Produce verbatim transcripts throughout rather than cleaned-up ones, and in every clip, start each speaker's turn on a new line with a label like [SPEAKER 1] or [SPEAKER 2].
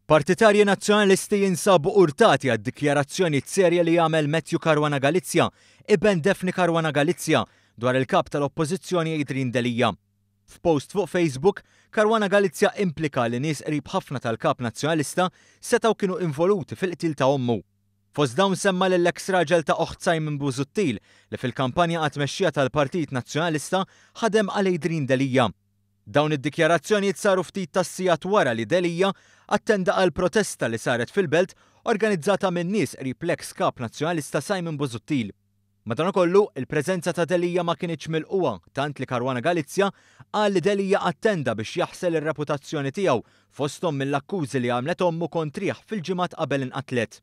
[SPEAKER 1] Partitarji Nazzjonalisti jinsabu urtati għad-dikjarazzjoni serja li għamel Matthew Caruana Galizia, iben Daphne Caruana Galizia, dwar il-kap tal-Oppożizzjoni Adrian Delia. F'post fuq Facebook, Caruana Galizia implika li nies qrib ħafna tal-kap nazzjonalista setgħu kienu involuti fil-qtil ta' ommu. Fost dawn semma l-ex raġel ta' oħt Simon Busuttil li fil-kampanja għat-tmexxija tal-Partit Nazzjonalista ħadem għal Adrian Delia. Dawn id-dikjarazzjonijiet saru ftit tas-sigħat wara li Delia attenda għal protesta li saret fil-belt organizzata minn nies qrib l-ex kap nazzjonalista Simon Busuttil. Madankollu, il-preżenza ta' Delia ma kinitx milqugħa, tant li Caruana Galizia qal li Delia attenda biex jaħsel ir-reputazzjoni tiegħu, fosthom mill-akkużi li għamlet ommu kontrih fil-ġimgħat qabel inqatlet.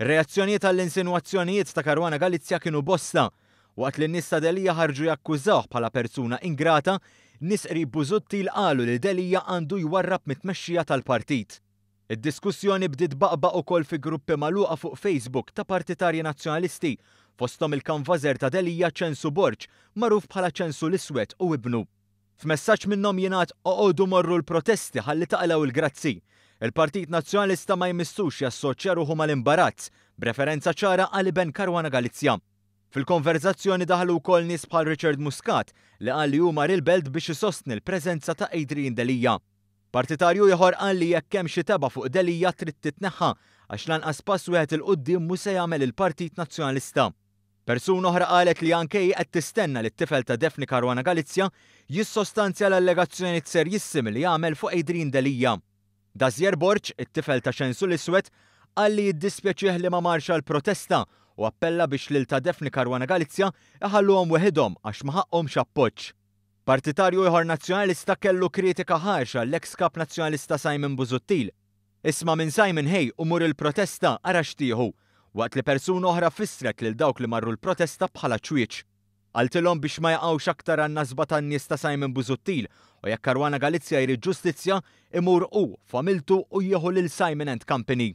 [SPEAKER 1] Ir-reazzjonijiet għall-insinwazzjonijiet ta' Caruana Galizia kienu bosta. Waqt li n-nies ta' Delia ħarġu jakkużawh bħala persuna ingrata, nies qrib Busuttil qalu li Delia għandu jwarrab mit-tmexxija tal-partit. Id-diskussjoni bdiet tbaqbaq ukoll fi gruppi magħluqa fuq Facebook ta' partitarji nazzjonalisti, fosthom il-kanvażer ta' Delia Ċensu Borg, magħruf bħala Ċensu l-Iswed, u ibnu. F'messaġġ minnhom jingħad: "Oqogħdu morru l-protesti ħalli taqilgħu il-grazzi. Il-Partit Nazzjonalista ma jmissux jassoċja ruħu mal-imbarazz", b'referenza ċara għal iben Caruana Galizia. Fil-konverzazzjoni daħlu wkoll nies bħal Richard Muscat, li qal li hu mar il-belt biex isostni l-preżenza ta' Adrian Delia. Partitarju ieħor qal li jekk hemm xi tebgħa fuq Delia trid titneħħa, għax lanqas pass wieħed 'il quddiem mhu se jagħmel il-Partit Nazzjonalista. Persuna oħra qalet li anke hi qed tistenna li t-tifel ta' Daphne Caruana Galizia jissostanzja l-allegazzjonijiet serjissimi li jagħmel fuq Adrian Delia. Dazier Borg, it-tifel ta' Ċensu l-Iswed, qal li jiddispjaċih li ma marx għal protesta u appella biex lil ta' Daphne Caruana Galizia iħalluhom weħidhom għax ma ħaqqhomx appoġġ. Partitarju ieħor nazzjonalista kellu kritika ħarxa l-ex kap nazzjonalista Simon Busuttil. "Isma' minn Simon ħej u mur il-protesta, ara x'tieħu", waqt li persuna oħra fissret lil dawk li marru l-protesta bħala ċwieċ. Qaltilhom biex ma jaqgħux aktar għan-nasba tan-nies ta' Simon Busuttil u jekk Caruana Galizia jrid ġustizzja, imur hu, familtu u jieħu lil Simon and Company.